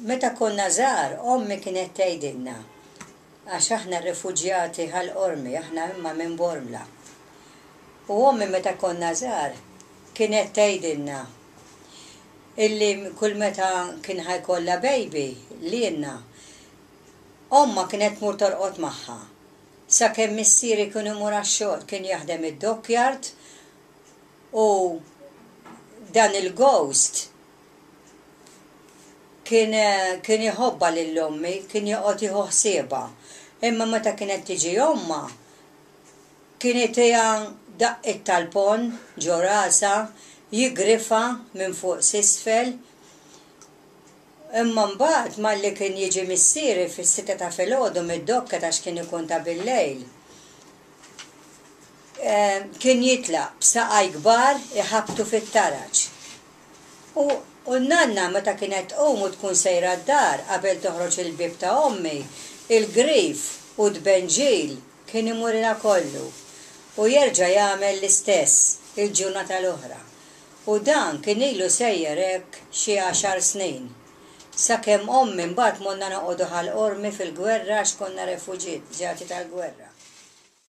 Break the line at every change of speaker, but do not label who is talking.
Meta konna żgħar, ommi kienet tgħidilna, għax aħna refuġjati Ħal Qormi, aħna imma minn Bormla. U ommi meta konna żgħar kienet tgħidilna illi kull meta kien ħa jkollha baby lilna, ommha kienet tmur torqod magħha. Sakemm missieri kien imur għax-xogħol, kien jaħdem id-dockyard u dan il-ghost Kien kien iħobbha lil ommi, kien joqgħod jieħu ħsiebha. Imma meta kienet tiġi ommha, kien itiha daqqiet tal-ponn ġo rasha, jigrifha minn fuq s'isfel. Imma mbagħad malli kien jiġi missieri fis-sitta ta' filgħodu mid-docket għax kien ikun ta' billejl, kien jitlaq b'saqaj kbar iħabbtu fit-taraġ. U n-nanna meta kienet tqum u tkun sejra d-dar qabel toħroġ il-bieb ta' ommi, il-grif u t-tbenġil kien imurilha kollu. U jerġa' jagħmel l-istess il-ġurnata l-oħra. U dan kien ilu sejjer hekk xi għaxar snin. Sakemm ommi mbagħad morna noqogħdu Ħal Qormi fil-gwerra għax konna refuġjati tal-gwerra.